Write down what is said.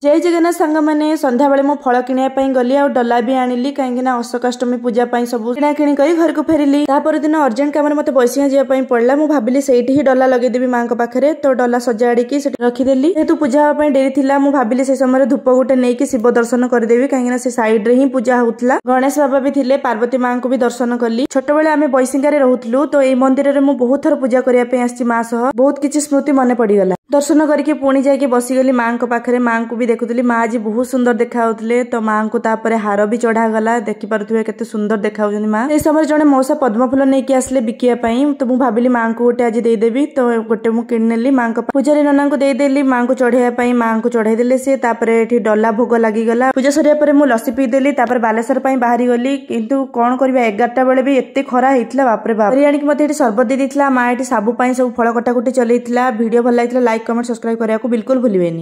ଜୟ ଜଗନ୍ନାଥ ସାଙ୍ଗମାନେ। ସନ୍ଧ୍ୟାବେଳେ ମୁଁ ଫଳ କିଣିବା ପାଇଁ ଗଲି ଆଉ ଡଲା ବି ଆଣିଲି, କାହିଁକି ନା ଅଶୋକାଷ୍ଟମୀ ପୂଜା ପାଇଁ ସବୁ କିଣାକିଣି କରି ଘରକୁ ଫେରିଲି। ତାପର ଦିନ ଅର୍ଜେଣ୍ଟ କାମରେ ମତେ ବୈଶିଙ୍ଗା ଯିବା ପାଇଁ ପଡିଲା। ମୁଁ ଭାବିଲି ସେଇଠି ହିଁ ଡଲା ଲଗେଇଦେବି ମାଙ୍କ ପାଖରେ, ତ ଡଲା ସଜାଡ଼ିକି ସେଠି ରଖିଦେଲି। ଯେହେତୁ ପୂଜା ହେବା ପାଇଁ ଡେରି ଥିଲା, ମୁଁ ଭାବିଲି ସେ ସମୟରେ ଧୂପ ଗୋଟେ ନେଇକି ଶିବ ଦର୍ଶନ କରିଦେବି, କାହିଁକି ନା ସେ ସାଇଡରେ ହିଁ ପୂଜା ହଉଥିଲା। ଗଣେଶ ବାବା ବି ଥିଲେ, ପାର୍ବତୀ ମାଙ୍କୁ ବି ଦର୍ଶନ କଲି। ଛୋଟବେଳେ ଆମେ ବୈଶିଙ୍ଗାରେ ରହୁଥିଲୁ, ତ ଏଇ ମନ୍ଦିରରେ ମୁଁ ବହୁତ ଥର ପୂଜା କରିବା ପାଇଁ ଆସିଛି ମା ସହ। ବହୁତ କିଛି ସ୍ମୃତି ମନେ ପଡିଗଲା। ଦର୍ଶନ କରିକି ପୁଣି ଯାଇକି ବସିଗଲି ମାଙ୍କ ପାଖରେ। ମାଙ୍କୁ ବି ଦେଖୁଥିଲି, ମା ଆଜି ବହୁତ ସୁନ୍ଦର ଦେଖାଯାଉଥିଲେ। ତ ମାଙ୍କୁ ତାପରେ ହାର ବି ଚଢାଗଲା। ଦେଖିପାରୁଥିବେ କେତେ ସୁନ୍ଦର ଦେଖାଯାଉଛନ୍ତି ମା। ସେଇ ସମୟରେ ଜଣେ ମଉସା ପଦ୍ମ ଫୁଲ ନେଇକି ଆସିଲେ ବିକିବା ପାଇଁ, ତ ମୁଁ ଭାବିଲି ମାଙ୍କୁ ଗୋଟେ ଆଜି ଦେଇଦେବି। ତ ଗୋଟେ ମୁଁ କିଣିନେଲି, ମାଙ୍କ ପୂଜାରୀ ନନାଙ୍କୁ ଦେଇଦେଲି ମାଙ୍କୁ ଚଢେଇବା ପାଇଁ। ମାଙ୍କୁ ଚଢେଇ ଦେଲେ ସିଏ। ତାପରେ ଏଠି ଡଲା ଭୋଗ ଲାଗିଗଲା। ପୂଜା ସରିବା ପରେ ମୁଁ ଲସି ପିଇଦେଲି, ତାପରେ ବାଲେଶ୍ୱର ପାଇଁ ବାହାରି ଗଲି। କିନ୍ତୁ କଣ କରିବା, 11ଟା ବେଳେ ବି ଏତେ ଖରା ହେଇଥିଲା, ବାପରେ ବାପ। ଆଣିକି ମତେ ଏଠି ସରବତ ଦେଇ ଦେଇଥିଲା ମା। ଏଠି ସାବୁ ପାଇଁ ସବୁ ଫଳ କଟାକୁଟି ଚଲେଇଥିଲା। ଭିଡିଓ ଭଲ ଲାଗିଥିଲା ଲାଇକ୍, କମେଣ୍ଟ, ସବସ୍କ୍ରାଇବ କରିବାକୁ ବିଲକୁଲ ଭୁଲିବେନି।